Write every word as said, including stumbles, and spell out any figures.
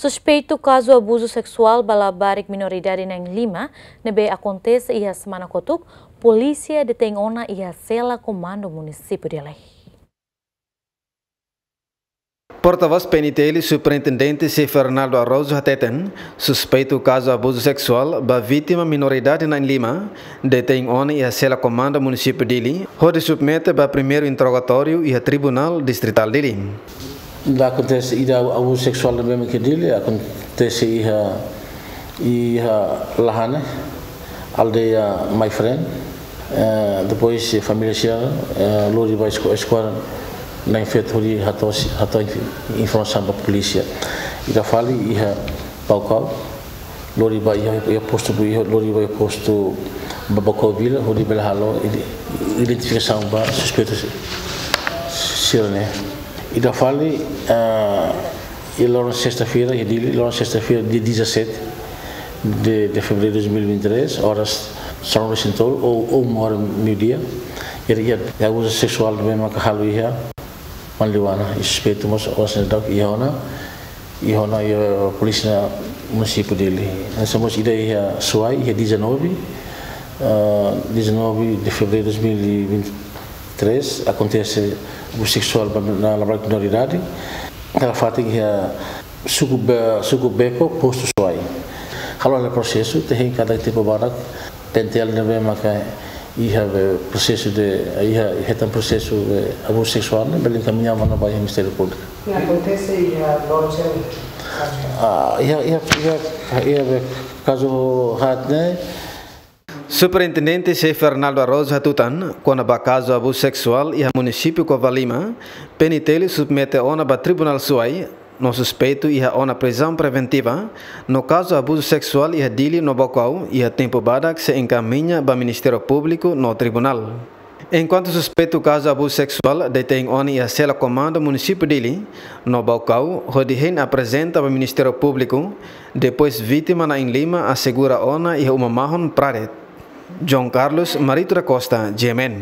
Suspeitu kazu abuzu seksuál ba labarik minoridade na'in-lima ne'ebé akontese iha semana kotuk, polísia detein ona iha sela komandu munisípiu Dili. Portavós P N T L, Superintendente José Fernaldo Araújo hateten, suspeitu kazu abuzu seksuál ba vítima minoridade na'in-lima detein ona iha sela komandu munisípiu Dili, hodi submete ba primeiru interrogatóriu iha Tribunál Distritál Dili. Ida akontese, ida abuzu seksuál ne'ebé mak iha Dili, akontese iha, iha Lahane, aldeia My Friend. Eh, depois, eh, família sira, eh, lori ba esko-, eskuadra na'in-feto hodi hato'o si-, hato'o inf-, informasaun ba polísia. Ida fali iha Baucau, lori ba iha, iha postu, iha, lori ba iha postu ba Baucau Vila, hodi bele halo ide-, identifikasaun ba suspeitu si-, sira-ne'e. Ida fali, ah, iha loron sesta-feira, iha Dili, loron sesta-feira, dia dezassete de, de fevereiro de dois mil e vinte e três, oras sanulu-resin-tolu ou, ou uma hora, meio-dia, iha, iha abuzu seksuál ne'ebé maka halo iha Manliwana, i suspeitu mós oras ne'e daudauk iha ona, iha ona iha polísia munisípiu Dili. Hanesan mós ida iha Suai, iha dezanove, ah, dezanove de fevereiro de dois mil e vinte e três, akontese abuzu seksuál ba, na labarik minoridade. Nafatin iha suku Be-, suku Beko, postu Suai. Halo hela prosesu, te hein katak tempu badak, P N T L ne'ebé maka iha be prosesu de, iha hetan prosesu de abuzu seksuál ne'e, bele enkamiña ona ba iha Ministériu Públiku. Ne'e akontese iha loron sira? Ah, iha, iha, iha, iha be kazu haat ne'e. Superintendente José Fernaldo Araújo hatutan, kona-ba kazu abuzu seksuál iha munisípiu Covalima, P N T L submete ona ba Tribunál Suai, no suspeitu iha ona prizaun preventiva, no kazu abuzu seksuál iha Dili no Baucau, iha tempu badak sei enkamiña ba Ministériu Públiku no Tribunál. Enkuantu suspeitu kazu abuzu seksuál detein ona iha sela komandu munisípiu Dili no Baucau, hodi hein aprezenta ba Ministériu Públiku, depois vítima na'in-lima asegura ona iha uma mahon Pradet. João Carlos Marito da Costa, G M N.